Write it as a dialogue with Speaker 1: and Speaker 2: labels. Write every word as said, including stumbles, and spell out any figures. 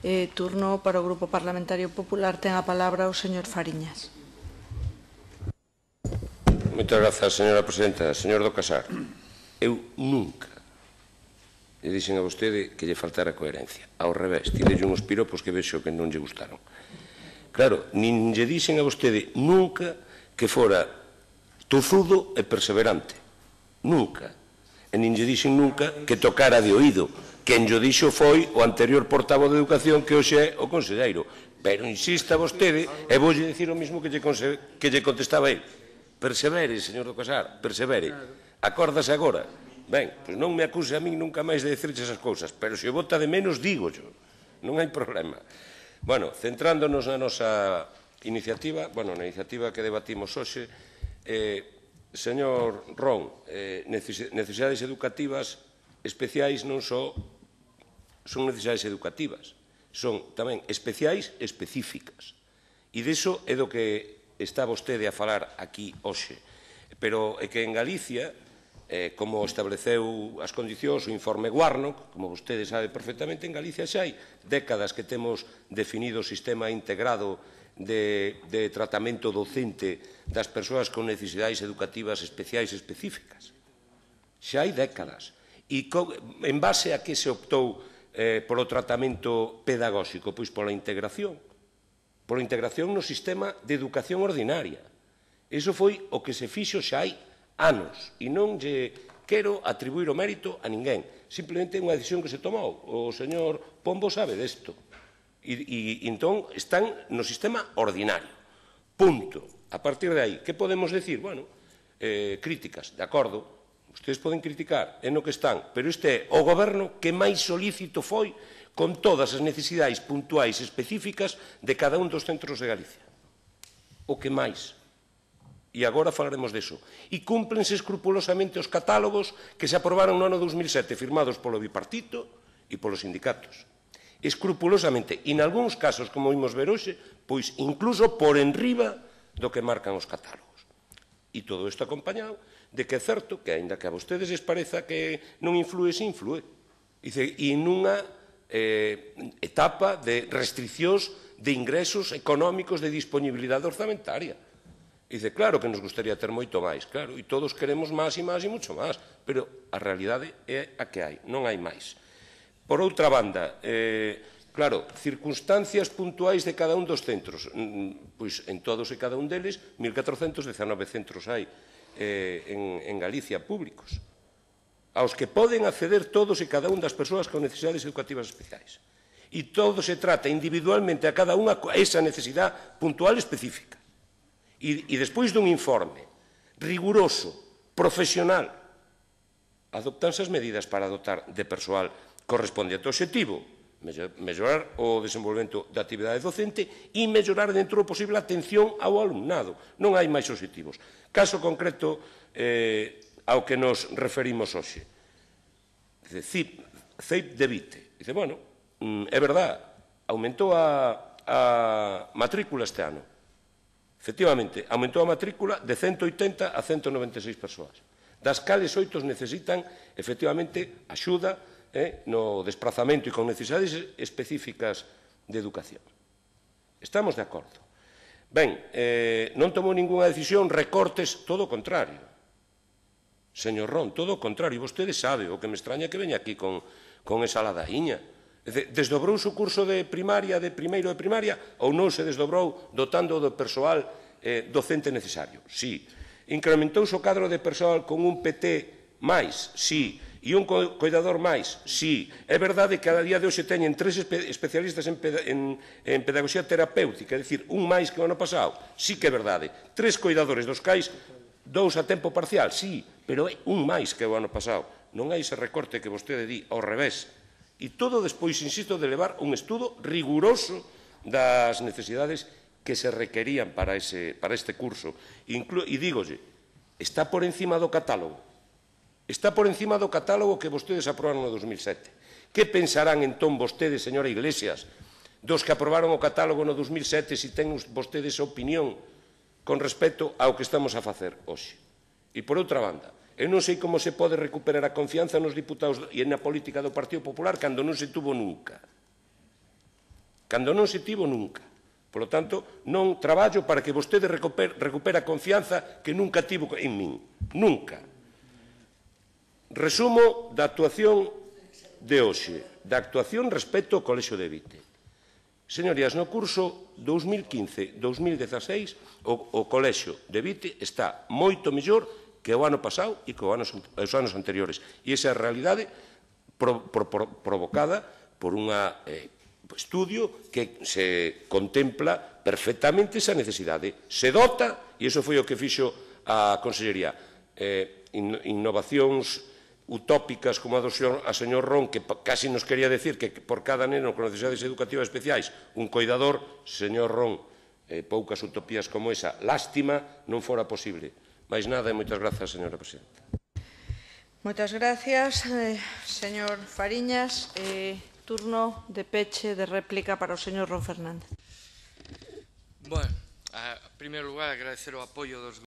Speaker 1: Eh, turno para o Grupo Parlamentario Popular. Ten a palabra o señor Fariñas.
Speaker 2: Moitas grazas, señora presidenta. Señor do Casar, eu nunca lle dixen a vostede que lle faltara coherencia. Ao revés, tirelle uns piropos que vexo que non lle gustaron. Claro, nin lle dixen a vostede nunca que fora tozudo e perseverante. Nunca. E nin lle dixen nunca que tocara de oído. Quen lle dixo foi o anterior portavoz de Educación, que hoxe é o conselleiro. Pero insista vostede, e voulle dicir o mismo que lle, que lle contestaba ele. Persevere, señor do Casar, persevere. Acórdase agora. Ben, pois non me acuse a min nunca máis de dicirche esas cousas, pero se o vota de menos, digo yo. Non hai problema. Bueno, centrándonos na nosa iniciativa, bueno, na iniciativa que debatimos hoxe, eh, señor Ron, eh, necesidades educativas especiais non só son necesidades educativas, son tamén especiais e específicas. E diso é do que está vostede a falar aquí hoxe. Pero é que en Galicia, eh, como estableceu as condicións o informe Warnock, como vostede sabe perfectamente, en Galicia xa hai décadas que temos definido o sistema integrado de, de tratamento docente das persoas con necesidades educativas especiais e específicas. Xa hai décadas. E co, en base a que se optou eh, polo tratamento pedagóxico? Pois pola integración. Pola integración no sistema de educación ordinaria. Iso foi o que se fixo xa hai anos, e non lle quero atribuir o mérito a ninguén. Simplemente é unha decisión que se tomou. O señor Pombo sabe desto. E, e entón están no sistema ordinario. Punto. A partir de aí, que podemos decir? Bueno, eh, críticas, de acordo. Ustedes poden criticar, é no que están, pero este é o goberno que máis solícito foi con todas as necesidades puntuais específicas de cada un dos centros de Galicia. O que máis. E agora falaremos deso. E cúmplense escrupulosamente os catálogos que se aprobaron no ano dos mil sete, firmados polo bipartito e polos sindicatos. Escrupulosamente. E, en algúns casos, como vimos ver hoxe, pois incluso por enriba do que marcan os catálogos. E todo isto acompañado de que é certo que, aínda que a vostedes les pareza que non influe, se influe. E nunha eh, etapa de restriccións de ingresos económicos, de disponibilidade orzamentaria. E dice, claro que nos gustaría ter moito máis, claro, e todos queremos máis e máis e mucho máis, pero a realidade é a que hai, non hai máis. Por outra banda, eh, claro, circunstancias puntuais de cada un dos centros, pois en todos e cada un deles, mil catrocentos dezanove centros hai eh, en, en Galicia públicos, aos que poden acceder todos e cada un das persoas con necesidades educativas especiais. E todo se trata individualmente a cada unha esa necesidade puntual específica. E, e despois dun informe riguroso, profesional, adoptanse as medidas para dotar de persoal correspondente ao obxectivo, mellorar o desenvolvemento da actividade docente e mellorar dentro do posible a atención ao alumnado. Non hai máis obxectivos. Caso concreto eh, ao que nos referimos hoxe. C E I P de Vite. Dice, bueno, é verdad, aumentou a, a matrícula este ano. Efectivamente, aumentou a matrícula de ciento oitenta a ciento noventa e seis persoas, das cales oito necesitan, efectivamente, axuda eh, no desplazamento e con necesidades específicas de educación. Estamos de acordo. Ben, eh, non tomou ninguna decisión, recortes, todo o contrario. Señor Ron, todo o contrario. Vostede sabe, o que me extraña que veña aquí con, con esa ladaíña. Desdobrouse o curso de primaria, de primeiro de primaria, ou non se desdobrou dotando do persoal eh, docente necesario? Sí. Incrementouse o cadro de persoal con un P T máis? Sí. E un coidador máis? Sí. É verdade que cada día de hoxe teñen tres espe especialistas en, en, en pedagogía terapéutica, é dicir, un máis que o ano pasado? Sí que é verdade. Tres coidadores, dos cais dous a tempo parcial? Sí, pero é un máis que o ano pasado. Non hai ese recorte que vostede di, ao revés. E todo despois, insisto, de levar un estudo riguroso das necesidades que se requerían para, ese, para este curso. Inclu e dígolle, está por encima do catálogo. Está por encima do catálogo que vostedes aprobaron no dos mil sete. Que pensarán entón vostedes, señora Iglesias, dos que aprobaron o catálogo no dos mil sete, se ten vostedes a opinión con respecto ao que estamos a facer hoxe? E por outra banda, eu non sei como se pode recuperar a confianza nos diputados e na política do Partido Popular cando non se tuvo nunca. Cando non se tivo, nunca. Por lo tanto, non traballo para que vostede recupere, recupere a confianza que nunca tivo en min. Nunca. Resumo da actuación de hoxe, da actuación respecto ao Colexio de Vite. Señorías, no curso dous mil quince dous mil dezaseis o, o Colexio de Vite está moito mellor que o ano pasado e que os anos, os anos anteriores. E esa é a realidade pro, pro, pro, provocada por un eh, estudio que se contempla perfectamente esa necesidade. Se dota, e iso foi o que fixo a Consellería, eh, in, innovacións utópicas como a do señor, a señor Ron, que casi nos quería decir que por cada neno con necesidades educativas especiais un coidador, señor Ron, eh, poucas utopías como esa, lástima non fora posible. Mais nada e moitas grazas, señora presidenta.
Speaker 1: Moitas gracias, eh, señor Fariñas. Eh, turno de peche de réplica para o señor Ron Fernández.
Speaker 3: Bueno, en primeiro lugar, agradecer o apoio dos